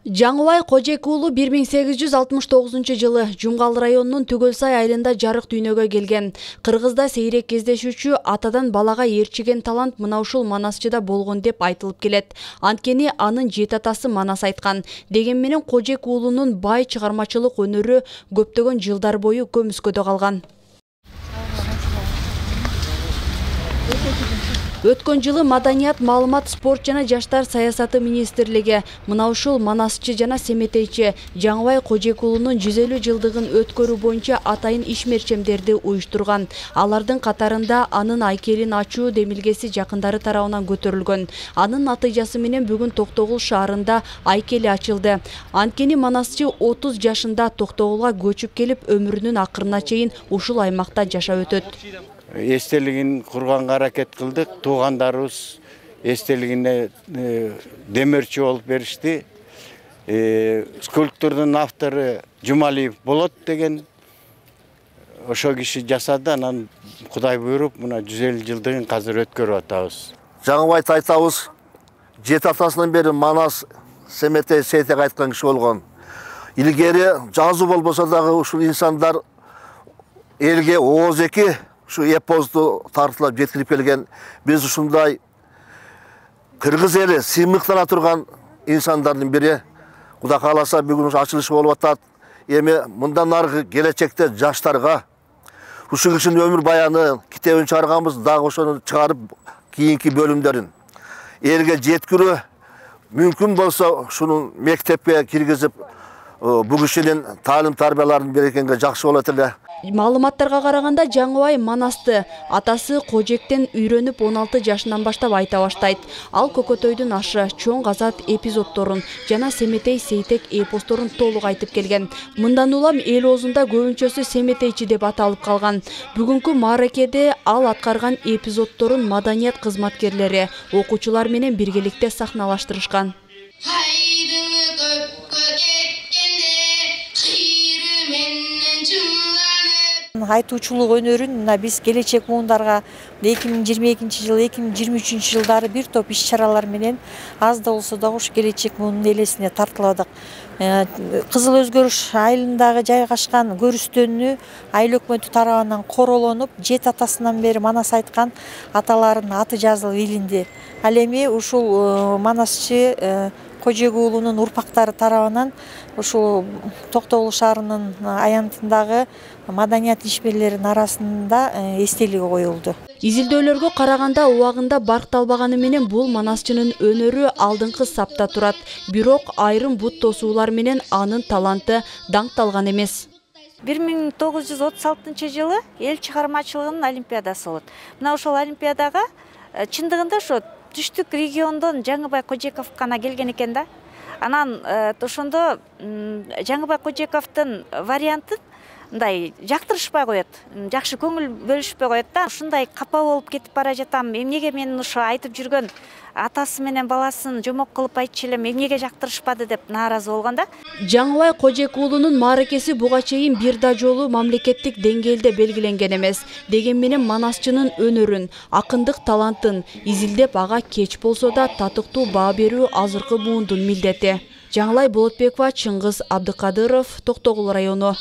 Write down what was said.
Жаңыбай Кожек уулу 1869 жылы Жумгал районунун Түгөлсай айылында жарык дүйнөгө келген. Кыргызда сейрек кездешүүчү атадан балага ээрчиген талант мына ушул Манасчыда болгон деп айтылып келет. Анткени анын жет атасы Манас айткан. Деген менен Кожек уулунун бай чыгармачылык өнөрү көптөгөн жылдар бою көмүскөдө калган. Өткөн жылы Маданият, маалымат, спорт жана жаштар саясаты министрлиги мына ушул Манасчы жана Семетейчи Жаңыбай Кожек уулунун 150 жылдыгын өткөрүү боюнча атайын ишмерчемдерди уюштурган. Алардын катарында анын айкелин ачуу демилгеси жакындары тарабынан көтөрүлгөн. Анын натыйжасы менен бүгүн Токтогул шаарында айкели ачылды. Анткени Манасчы 30 жашында Токтогулга көчүп келип, өмүрүнүн акырына чейин ушул аймакта жашап өтөт. Эстелигин курганга аракет кылдык. Туугандарыбыз эстелигине демерчи болуп беришти. Скульптурдун автору Жумалиев болот деген ошо киши жасады. Анан Кудай буйруп, мына 150 жылдыгын азыр өткөрүп атабыз. Жаңыбайды айтабыз, жет атасынан бери Манас, Семетей, Сейтек айткан киши болгон. Илгери жазуу болбосо дагы ушул инсандар элге ооз-эки şu эпосту тартылап жеткирип келген. Биз ушундай кыргыз эли сыймыктана турган инсандардын бири. Кудай кааласа бүгүн ачылышы болуп атат. Эми мындан аркы келечекте жаштарга ушул кишинин өмүр баяны китебин чыгарганбыз, дагы ошону чыгарып кийинки бөлүмдөрүн элге жеткирүү мүмкүн болсо ушуну мектепке киргизип бу кишинин таалим тарбияларын берекенге жакшы болот эле. Маалыматтарга караганда Жаңыбай Манасты атасы Кожектен үйрөнүп 16 жашынан баштап айта баштайт. Ал Көкөтөйдүн ашы, Чоң Азат эпизоддорун жана Семетей, Сейтек эпосторун толук айтып келген. Мындан улам эл оозунда көбүнчөсү Семетейчи деп аталып калган. Бүгүнкү мааракеде ал аткарган эпизоддорун маданият кызматкерлери, окуучулар менен биргеликте сахналаштырышкан. Айтуучулук өнөрүн мына биз келечек муундарга 2022 жыл, 2023 жылдары бир топ иш-чаралар менен аз да болсо да ушу келечек муунун элесине тартыладык. Кызыл Өзгөрүш айылындагы жайгашкан көрүстөнүү айыл өкмөтү тарабынан королонуп, жет атасынан бери Манас айткан аталарынын аты жазылып илинди. Ал эми ушул Манасчы Кожек уулунун урпактары тарабынан ушул Токтогул шаарынын аянтындагы маданият ишмерлеринин арасында эстелиги коюлду. Изилдөөлөргө караганда убагында баркталбаганы менен бул Манасчынын өнөрү алдыңкы сапта турат. Бирок айрым бут тосуулар менен анын таланты даңкталган эмес. 1936 жылы эл чыгармачылыгынын олимпиадасы болот. Мына ошол олимпиадага чындыгында ошо түштүк региондон Жаңыбай Кожеков гана келген экен да. Анан ошондо Жаңыбай Кожековдун вариантын мындай жактырышпай коет, жакшы көңүл бөлүшпөй коет да. Ушундай капа болуп кетип бара жатам. Эмнеге мен ошо айтып жүргөн атасы менен баласын жомок кылып айтчу элем, эмнеге жактырышпады деп нааразы болгон да. Жаңыбай Кожек уулунун мааракеси буга чейин бир да жолу мамлекеттик деңгээлде белгиленген эмес. Деген менен Манасчынын өнөрүн, акындык талантын изилдеп ага кеч болсо да татыктуу баа берүү азыркы муундун милдети. Жаңылай Болотбекова, Чыңгыз Абдыкадыров, Токтогул району.